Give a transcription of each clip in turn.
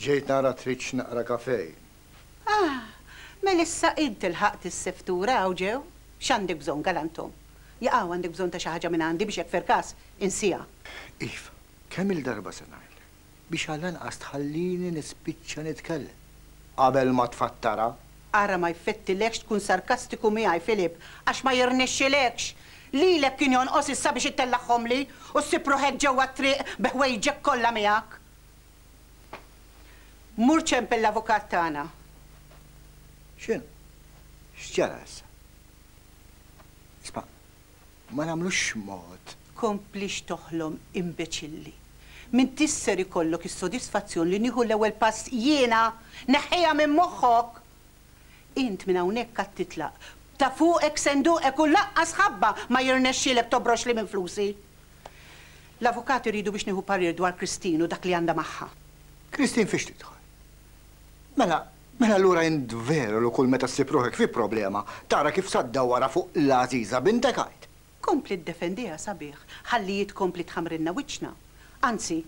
Ġejt nara tridx naqra kafè jien. Ah! Mela issa int ilħaqt is-seftura hawn ġew? X'għandek bżonn, galantom? Jaqaw għandek bżonn ta' xi ħaġa minn għandi biex hekk ferkas insiha? Iva, kemm-il darba se ngħidlek biex għall-anqas tħallini nispiċċa nitkellem qabel ma tfattarha. Ara ma jfettilekx tkun sarkastiku miegħi, Philip, għax ma jirnexxilekx! Lilek kien jonqos issa biex ittellagħhomli u ssib ruħek ġewwa t-triq bi ħwejġek kollha miegħek. Mur ċempel l-avukat tagħna. X'inhu? X'ġara issa? Isma', ma nagħmlux mod. Tkomplix toħlom, imbeċilli. M'intix ser ikollok is-sodisfazzjon li nieħu l-ewwel pass jiena! Neħħiha minn moħħok! Int minn hawnhekk għad titlaq. Ta' fuqek senduqek u lanqas ħabba ma jirnexxielek tobroxli minn flusi. L-avukat iridu biex nieħu parir dwar Christine u dak li għandha magħha. Christine fiex tidħol? Mela, mela allura int veru li kull meta ssib ruħek fi problema tara kif sa ddawwarha fuq l-għażiża bintek għid? Kompli ddefendiha sabiħ ħalli hi tkompli tħammrilna wiċċna. Anzi,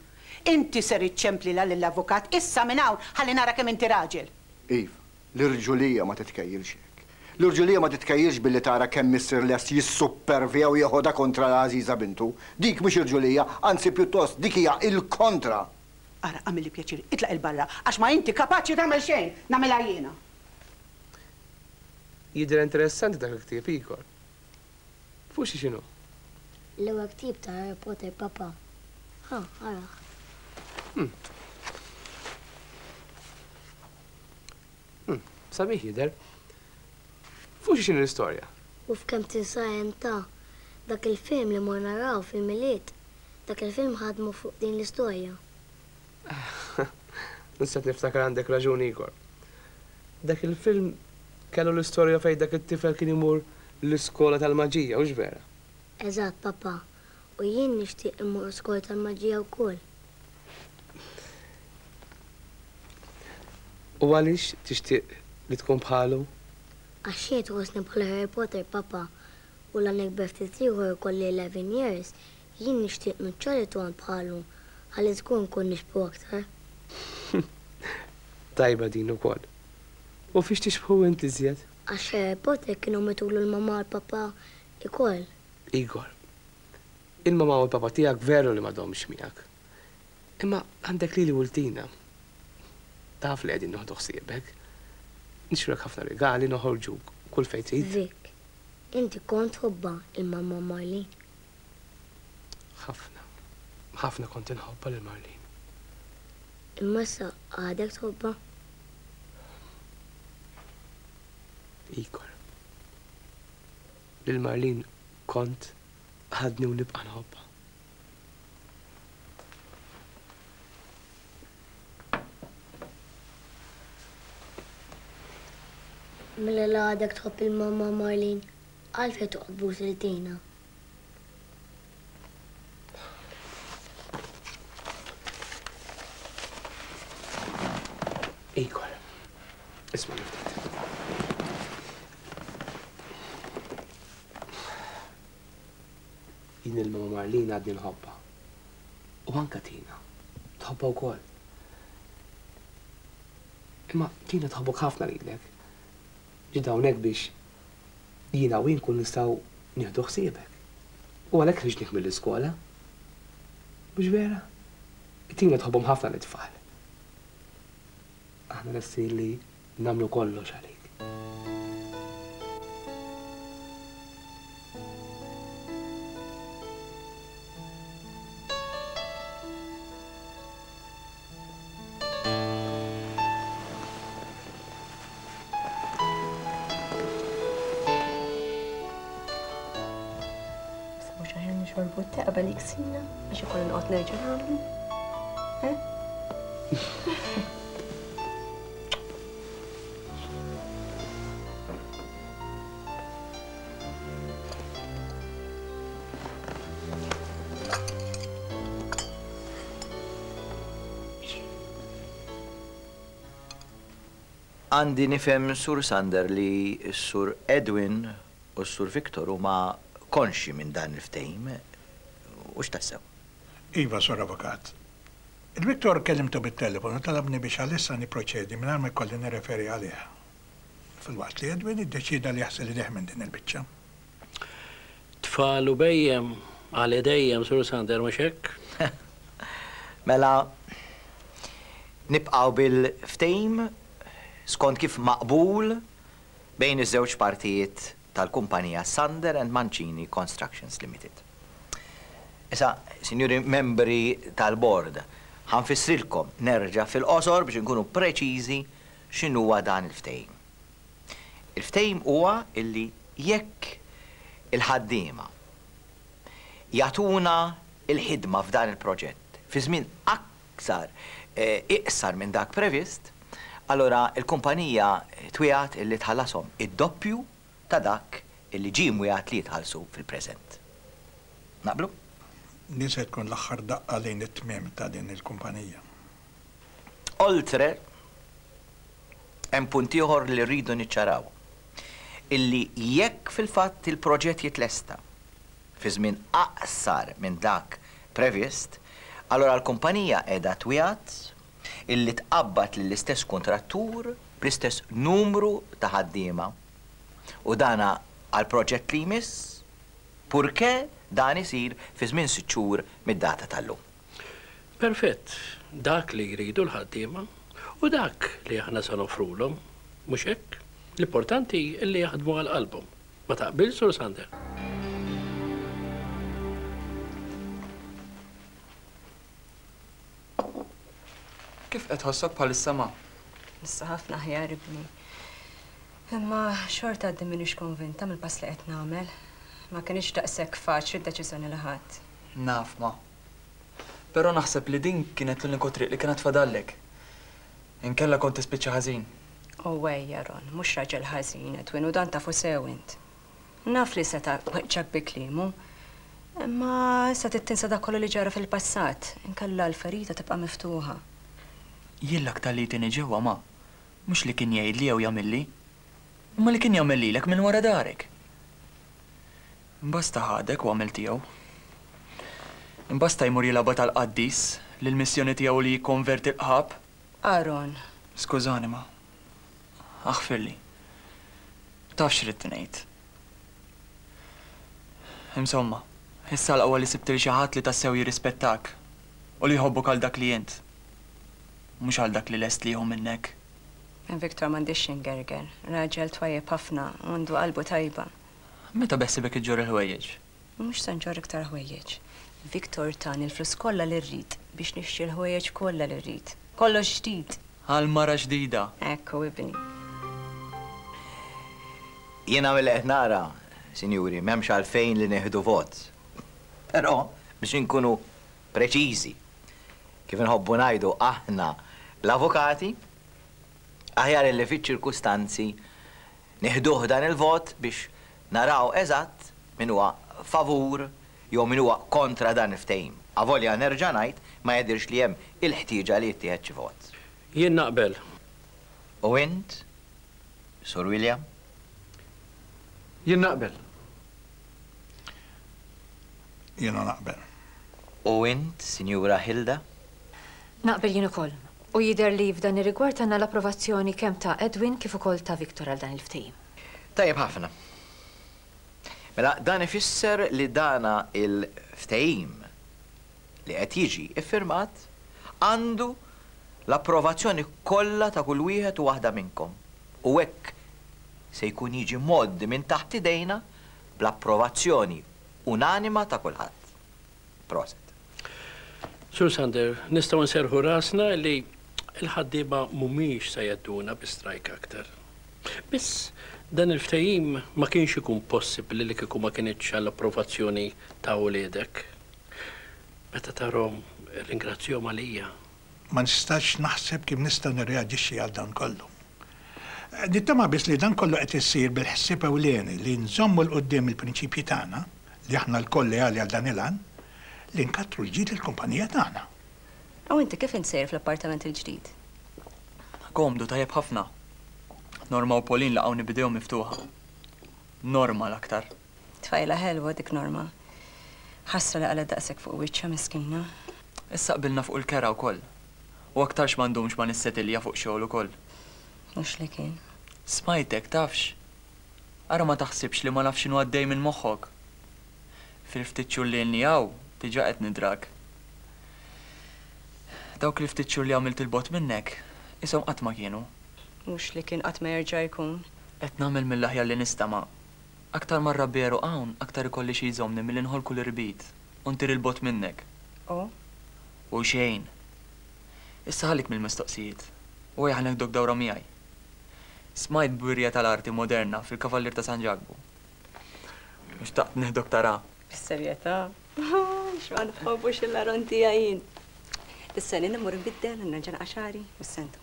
inti ser iċċemplilha lill-avukat issa minn hawn ħalli nara kemm inti raġel. Iva, l-irġulija ma titkejjilx hekk. L-irġulija ma titkejjilx billi tara kemm missier lest jissuppervja u jeħodha kontra l-għażiża bintu. Dik mhix irġulija, anzi pjuttost dik hija il-kontra. Ara, agħmilli pjaċir, itlaq 'il barra, għax ma inti kapaċi tagħmel xejn, nagħmilha jiena. Jidher interessanti dak il-ktieb, Igor. Fuq xi x'inhu? L-ewwel ktieb ta' Harry Potter, papà. Ħa, arah. Hm. Hm, sabiħ jidher. Fuq xi x'inhi l-istorja? U f'kemm tinsa hemm ta' dak il-film li morna naraw fil-Milied. Dak il-film ħadmu fuq din l-istorja. Issa qed niftakar għandek raġun Igor. Dak il-film kellu l-istorja fejn dak it-tifel kien imur l-iskola tal-maġija, hux vera? Eżatt, papà. U jien nixtieq immur skola tal-maġija wkoll. U għaliex tixtieq li tkun bħalu? Għax jien tħossni bħal Harry Potter, papà. U la nikber ftit ieħor ikolli 11 years, Jien nixtieq nuċċali tond bħalu ħalli żgur nkun nixbhu aktar. Tajba din ukoll. U fiex tixbhu int iżjed? Għax Harry Potter kienu mitulu l-mamà u l-papà ikoll. Igor, il-mamà u l-papà tiegħek veru li m'għadhomx miegħek. Imma għandek lili u 'l Tina. Taf li qegħdin nieħdu ħsiebek. Nixtrulek ħafna rigali, noħorġuk kull fejn trid. Vic, inti kont tħobbha il-mamà Marlene? Ħafna. Ħafna kont inħobbha lil Marlene. Imma issa għadek tħobbha? Igor. Lil Marlene kont, għadni u nibqa' nħobbha. Mela la għadek tħobb il-mamma Marlene, għalfejn toqgħod tbus lil Tina? Igor, isma' ftit. Jien il-mama Marlene għadni nħobbha. U anka Tina. Tħobbha wkoll. Imma Tina tħobbok ħafna lilek. Ġiet hawnhekk biex jiena u hi nkunu nistgħu nieħdu ħsiebek. U għalhekk ħriġniek mill-iskola. Mhux vera? It-Tina tħobbhom ħafna lit-tfal. Aħna lesti li nagħmlu kollox għalik. Mhux aħjar nixorbu t-te qabel jiksina għax ikolli noqgħod nerġa' nagħmlu. Eh? Għandi nifhem Sur Sander li s-Sur Edwin u s-Sur Victor huma konxji minn dan il-ftehim, hux tassew? Iva, Sur Avukat. Il-Victor kellimtu bit-telefon u talabni biex għalissa nipproċedi mingħajr ma jkolli nirreferi għalih. Filwaqt li Edwin iddeċieda li jaħsel idejh minn din il-biċċa. Tfal u bhejjem għal idejjem, Sur Sander, mhux hekk? Mela, nibqgħu bil-ftehim skont kif maqbul bejn iż-żewġ partijiet tal-kumpanija Sander and Mancini Constructions Limited. Issa, sinjuri membri tal-bord, ħa nfissrilkom nerġa' fil-qosor biex inkunu preċiżi x'inhuwa dan il-ftehim. Il-ftehim huwa illi jekk il-ħaddiema jagħtuna l-ħidma f'dan il-proġett fi żmien aktar iqsar minn dak previst, allura l-kumpanija twiegħed illi tħallashom id-doppju ta' dak illi ġie mwiegħed li jitħallsu fil-preżent. Naqblu? Din se tkun l-aħħar daqqa lejn it-tmiem ta' din il-kumpanija. Oltre, hemm punt ieħor li rridu niċċaraw, illi jekk fil-fatt il-proġett jitlesta fi żmien aqsar minn dak previst, allura l-kumpanija qiegħda twiegħed illi tqabbad lill-istess kuntrattur bl-istess numru ta' ħaddiema u dana għall-proġett li jmiss, purché dan isir fi żmien sitt xhur mid-data tal-lum. Perfett, dak li jridu l-ħaddiema u dak li aħna se noffrulhom, mhux hekk? L-importanti li jaħdmu għal qalbhom. Ma taqbilx, Sur Sander? Kif qed tħossok bħalissa, ma? Issa ħafna aħjar, ibni. Imma xorta għadni m'iniex konvinta mill-pass li qed nagħmel. Ma kinitx daqshekk faċli d-deċiżjoni li ħadt. Naf, ma. Però naħseb li din kienet l-uniku triq li kienet fadallek. Inkella kont tispiċċa ħażin. U ejja, Ron, mhux raġel ħażin, Edwin, u dan tafu sew int. Naf li seta' weġġgħek bi kliemu. Imma issa trid tinsa dak kollu li ġara fil-passat, inkella l-ferita tibqa' miftuħa. Jien l-aktar li jtini ġewwa, ma, mhux li kien jgħidli jew jagħmilli, imma li kien jagħmel lilek minn wara darek. Imbasta ħadek u għamel tiegħu. Imbasta jmur jilgħabha tal-qaddis li l-missjoni tiegħu li jikkonverti l-qħab. Aaron. Skużani, ma. Aħfirli. Taf x'ridt ngħid. Insomma, issa l-aqwa li sibt 'il xi ħadd li tassew jirrispettak u li jħobbok għal dak li int, mhux għal dak li lest li jieħu minnek. Victor m'għandix xi ngerger. Raġel twajjeb ħafna u għandu qalbu tajba. Meta beħsiebek iġġorr il-ħwejjeġ? Mhux se nġorr iktar ħwejjeġ. Victor tani l-flus kollha li rrid biex nixtri l-ħwejjeġ kollha li rrid. Kollox ġdid! Għal mara ġdida! Hekk hu ibni. Jiena milli qed nara, sinjuri, m'hemmx għalfejn li nieħdu vot. Però, biex inkunu preċiżi, kif inħobbu ngħidu aħna l-avukati, aħjar illi fiċ-ċirkustanzi Nieħduh dan il-vot biex naraw eżatt min huwa favur jew min huwa kontra dan il-ftehim. Avolja nerġa' ngħid ma jidhirx li hemm il-ħtieġa li jittieħed xi vot. Jien naqbel. U int, Sur William? Jien naqbel. Jiena naqbel. U int, Sinjura Hilda? Naqbel jien ukoll. U jidher li f'dan ir-rigward għandna l-approvazzjoni kemm ta' Edwin kif ukoll ta' Victor għal dan il-ftehim. Tajjeb ħafna. Mela dan ifisser li dana il-ftehim li qed jiġi iffirmat għandu l-approvazzjoni kollha ta' kull wieħed u waħda minnkom u hekk se jkun jiġi mgħoddi minn taħt idejna bl-approvazzjoni unanima ta' kulħadd. Proset. Sur Sander, nistgħu nserrħu rasna li l-ħaddiema mhumiex se jgħedduna bi strajk aktar. Biss, dan il-ftehim ma kienx ikun possibbli li kieku ma kinitx għall-approvazzjoni ta' uliedek. Meta tarhom, irringrazzjahom għalija. Ma nistax naħseb kif nista' nirreaġixxi għal dan kollu. Nittama biss li dan kollu qed isir bil-ħsieb ewlieni li nżommu 'l quddiem il-prinċipji tagħna, li aħna lkoll leali għal dan il-għan, li nkattru l-ġid lill-kumpanija tagħna. U inti kif int sejjer fl-appartament il-ġdid? Komdu, tajjeb ħafna. Norma u Pauline laqgħuni b'idejhom miftuħa. Norma l-aktar. Tfajla ħelwa dik Norma. Ħasra li qalgħet daqshekk fuq wiċċha miskina. Issa qbilna fuq il-kera wkoll. U aktarx ma ndumx ma nissetilja fuq xogħol ukoll. Mhux li kien. Smajtek, tafx? Ara ma taħsibx li ma nafx x'inhu għaddej minn moħħok. Fil-ftit xhur li ilni hawn, diġà qed nidrak. Dawk il-ftit xhur li għamilt 'il bogħod minnek, qishom qatt ma kienu. Mhux li kien qatt ma jerġa' jkun. Qed nagħmel mill-aħjar li nista' ma aktar ma rrabbi għeruq hawn, aktar ikolli xi jżommni milli nħoll kull irbit u ntir 'il bogħod minnek. U? U xejn. Issa ħallik mill-mistoqsijiet u ejja ħa neħduk dawra miegħi. Smajt b'wirja tal-arti moderna fil-Kavallier ta' San Ġakbu. U xtaqt nieħdok taraha. Bis-serjetà? X'ma nħobbux il-Aron tiegħi jien. Issa jien immur inbiddel u nerġa' naqa' xagħri u s-sentu.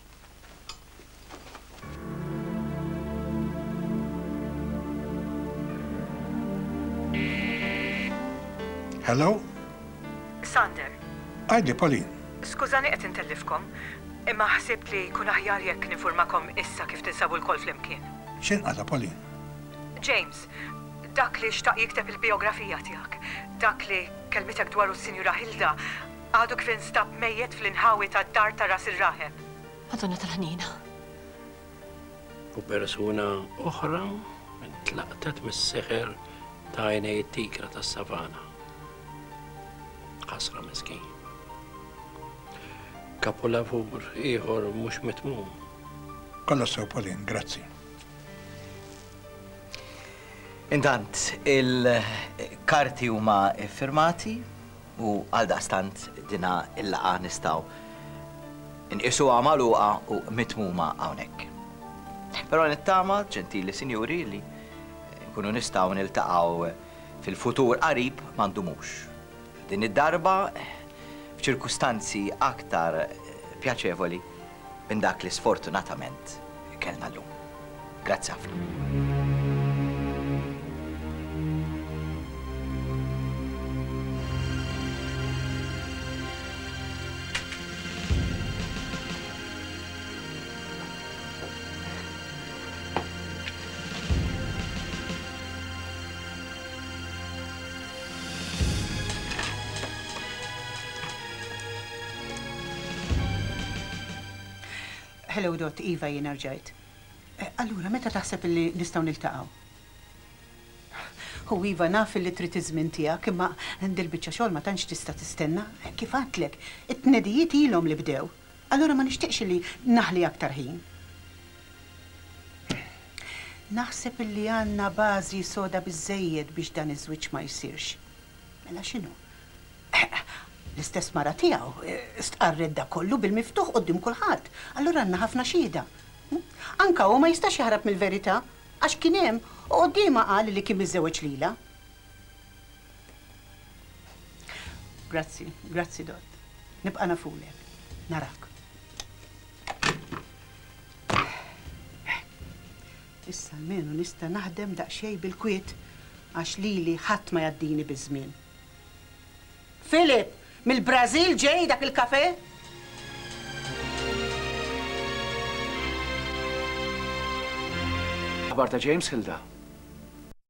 Hello? Sander. Għidli, Pauline. Skużani qed intellifkom, imma ħsibt li jkun aħjar jekk ninfurmakom issa kif tinsabu lkoll flimkien. X'inqata', Pauline? James, dak li xtaq jikteb il-bijografija tiegħek, dak li kellmitek dwaru s-Sinjura Hilda, għadu kif instab mejjet fl-inħawi tad-dar ta' Ras ir-Raħeb. Madonna tal-Ħniena. U persuna oħra ntlaqtet mis-seħer ta' għajnej it-tigra tas-savana. Ħasra miskin. Kapolavur ieħor mhux mitmum. Kollox sew Pauline, grazzi. Intant, il-karti huma ffirmati u għaldaqstant dina l-laqgħa nistgħu nqisuha magħluqa u mitmuma hawnhekk. Però nittama, ġentili sinjuri, li nkunu nistgħu niltaqgħu fil-futur qarib ma ndumux. Din id-darba f'ċirkustanzi aktar pjaċevoli minn dak li sfortunatament kellna llum. Grazzi ħafna. Hello Dot, Iva jiena rġajt. Eh, allura, meta taħseb li nistgħu niltaqgħu? Hu iva naf li trid iż-żmien tiegħek, imma dil-biċċa xogħol ma tantx tista' tistenna. Eh, kif għadtlek, it-tnedijiet ilhom li bdew. Allura ma nixtieqx li naħli aktar ħin. Naħseb illi għandna bażi soda biżżejjed biex dan iż-żwieġ ma jsirx. Mela x'inhu? L-istess mara tiegħu stqarret dak kollu bil-miftuħ quddiem kulħadd. Allura għandna ħafna xhieda. Anke hu ma jistax jaħrab mill-verità għax kien hemm u quddiemha qal li kien miżżewweġ lilha. Grazzi, grazzi Dott. Nibqa' nafulek. Narak. Issa almenu nista' naħdem daqsxejn bil-kwiet għax lili ħadd ma jgħaddini biż-żmien. Philip, mill-Brażil ġej dak il-kafè? Aħbar ta' James, Hilda?